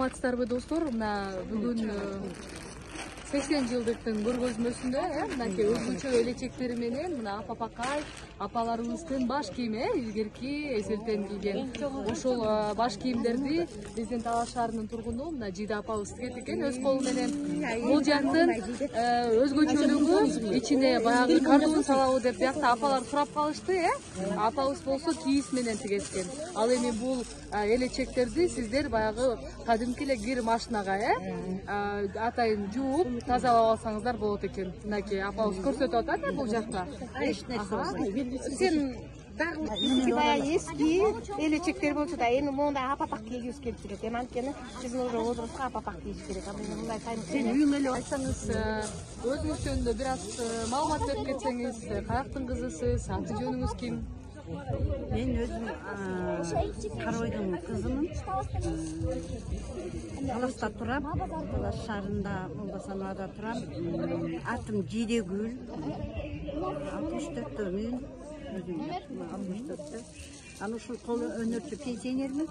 саламатсыздарбы достор? Мына бүгүн 80 жылдыктын көргөзмөсүндө мынакей өзгөчө элечектери менен мына апапакай апаларыбыздын баш кийими илгерки эсептендирилген. Ошол баш кийимдерди биздин Талаш шаарынын тургуну мына Жида апабыз тигет экен өз колу менен. Бул жактын өзгөчөлүгү ичине баягы кардон салабы деп биякта апалар сурап калышты, апабыз болсо кийиз менен тигешкен. Ал эми бул элечектерди сиздер баягы кадимки эле кир машинага атайын жууп тазалап алсаңыздар болот экен. Мынакей апабыз көрсөтүп атат бул жакта. Эч нерсе. Сен дагы баягы эски элечектер болчу да эми мондай апапак кийгибиз келип жүрөт. Эми анткени биздин уже возрастка апапак кийиш керек. Мындай сайын сен үйүңө эле айтсаңыз, өзүңүз жөнүндө бир аз маалымат берип кетсеңиз, каяктын кызысыз, аты жөнүңүз ким? Мен өзүм Каройдун кызымын. Талашта турам. Талаш шаарында Молдосановада турам. Атым Жидегүл. 64-төмүн. Өзүм 64-тө. Аны ушул кол өнөрчү пенсионермин.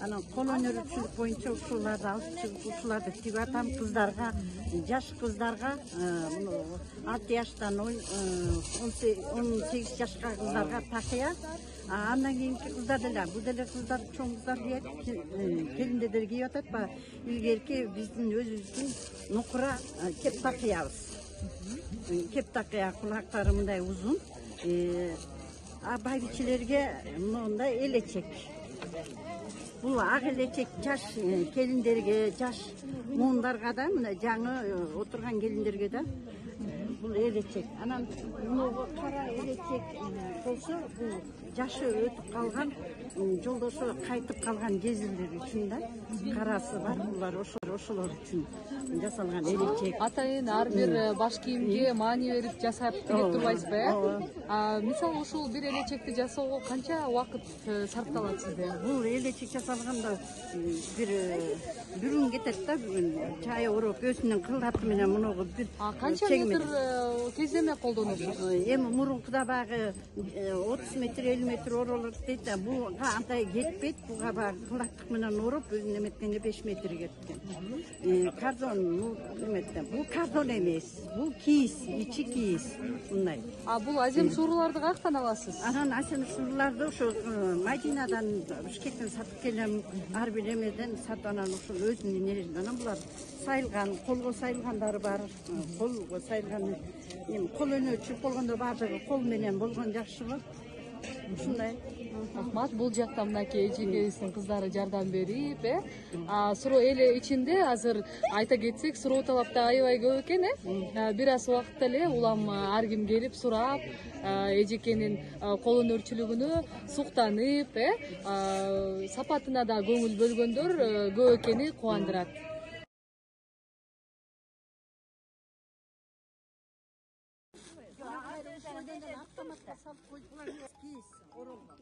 Анан кол өнөрчүлүк боюнча ушуларды алып чыгып, ушуларды тигип атам кыздарга, жаш кыздарга, 6 жаштан 18 жашка кыздарга такыя. Андан кийинки кыздар деле, бул деле кыздар, чоң кыздар кийет, келиндер кийип атат. Илгерки биздин өзүбүздүн нукура кеп такыябыз. Кеп такыя кулактары мындай узун. Байбичелерге мындай элечек. Бул ак элечек жаш келиндерге, жаш муундарга да, мына жаңы отурган келиндерге да бул элечек. Анан мынагы кара элечек болсо, бул жашы өтүп калган, жолдошу кайтып калган кезирлер үчүн да карасы бар. Булар ошолор үчүн жасалган элечек. Атайын ар бир баш кийимге маани берип жасап тигип турбайсызбы, Мисалы ушул бир элечекти жасоого канча убакыт сарпталат сизде? Бул элечек жасалганда бир күн кетет да, чайы ороп өзүнүн кылдаты менен мунугу бир канча метр кездеме колдоносуз? Эми мурункуда багы 30 метр 50 метр оролот дейт да, буга андай кетпейт. Буга багы кылдаттык менен ороп өзүнүн эметкенде 5 метр кеткен. Кардон бул кардон эмес, бул кийиз, ичи кийиз мындай. Бул азем сууруларды каяктан аласыз? Анан азем сууруларды ошо Мадинадан, Бишкектен сатып келем, ар бир эмеден сатып, анан ошол өзүнүн нересинен. Анан булар сайылган, колго сайылгандары бар, колго сайылган, эми кол өнөрчү болгондо баардыгы кол менен болгон жакшы го. Ушундай. Рахмат. Бул жакта мынакей эжекебиздин кыздары жардам берип, суроо эле ичинде азыр айта кетсек, суроо талап да аябай көп экен, бир аз убакытта эле улам ар ким келип сурап, эжекенин кол өнөрчүлүгүнө суктанып, сапатына да көңүл бөлгөндөр көп экени кубандырат. Автоматка салып койдулар, кийиз оролгон.